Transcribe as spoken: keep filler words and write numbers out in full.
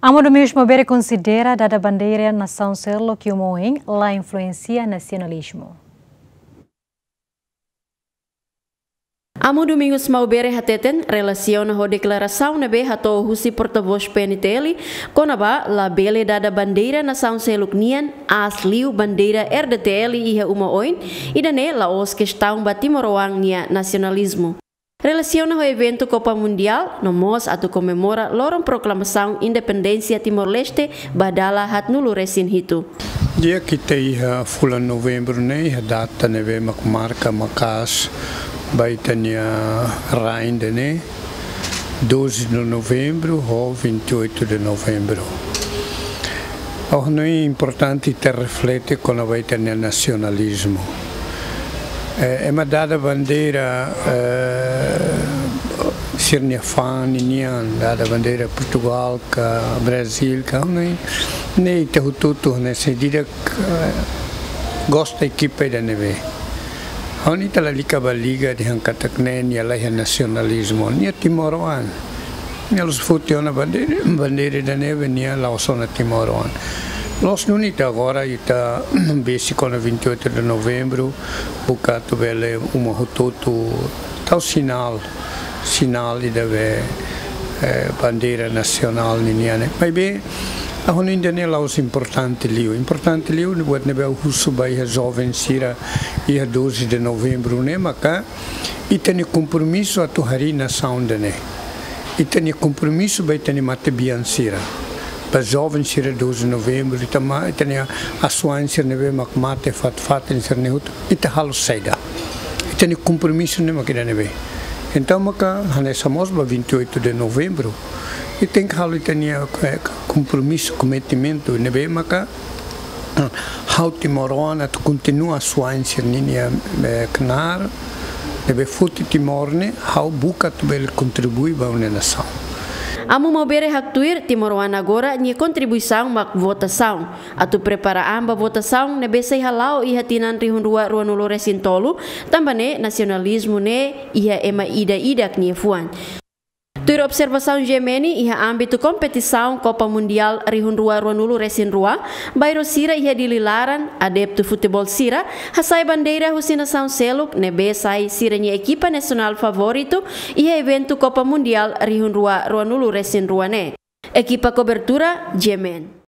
Amu Domingos Maubere konsidera dada bandeira nasaun seluk iha uma oin la influensia nasionalizmu. Amu Domingos Maubere hateten, relasiona ho deklarasaun ne'ebé hato'o husi portavós P N T L, kona-ba labele dada bandeira nasaun seluk nian, aas liu bandeira R D T L iha uma oin, ida-ne'e la'ós kestaun ba timoroan nia nasionalizmu. Relasiona ho eventu Kopa Mundiál, no mós atu komemora loron proklamasaun independénsia Timor-Leste ba dala haatnulu resin hitu. Di'ak, ita iha fulan Novembru ne'e, iha data ne'ebé mak marka maka'as ba ita-nia rain ida-ne'e, doze de Novembro ho vinte e oito de Novembro. Ha'u hanoin importante ita reflete kona-ba ita-nia nasionalizmu. Eh, ema dada bandeira, eh, sira-nia fa'an ninian, dada bandeira Portugal ka Brazil ka, ha'u hanoin ne'e ita hotu-hotu ne'e sei di'ak, eh, gosta ekipa ida ne'ebé. Ha'u hanoin ita lalika ba liga dehan katak ne'e nia laiha nasionalizmu, nia timoroan. Nia la'ós foti ona bandeira, bandeira ida ne'ebé nia la'ós ona timoroan. Loos duni ita agora ita besik ona vinte e oito de Novembro, buka atu bele uma hotu-hotu tau sinál, sinál ida be, eh, bandeira nasionál ninian ne'e. Maibé, ha'u hanoin ida-ne'e la'ós importante liu. Importante liu, buat ne'ebé ha'u husu ba iha joven sira, iha doze de Novembro ne'e, maka ita-nia kompromisu atu harii nasaun ida-ne'e. Ita-nia kompromisu ba ita-nia matebian sira. Ba joven sira doze de Novembro, ita ma-, ita-nia asuwa'in sira ne'ebé mak mate fatin-fatin sira-ne'e hotu, ita halo saida. Ita-nia kompromisu ne'e mak ida ne'ebé. Entaun maka hanesan mós ba vinte e oito de Novembro, ita tenke halo ita-nia, eh, kompromisu, kometimentu ne'ebé maka ha'u timoroan atu kontinua asuwa'in sira-ninia, eh, knaar, ne'ebé foti Timor ne'e, ha'u buka atu bele kontribui ba ha'u-nia nasaun. Amu Maubere haktuir, timoroan agora nia kontribuisaun mak votasaun. Atu prepara an ba votasaun ne'ebé sei hala'o iha tinan rihun rua ruanulu resin tolu, tanba ne'e nasionalizmu ne'e iha ema ida-idak nia fuan. Tuir observasaun G M N, iha ámbitu kompetisaun Kopa Mundiál rihun rua ruanulu resin rua, bairru sira iha Dili laran, adeptu futeból sira hasa'e bandeira husi nasaun seluk ne'ebé sai sira-nia ekipa nasionál favoritu iha eventu Kopa Mundiál rihun rua ruanulu resin rua ne'e. Ekipa kobertura, G M N.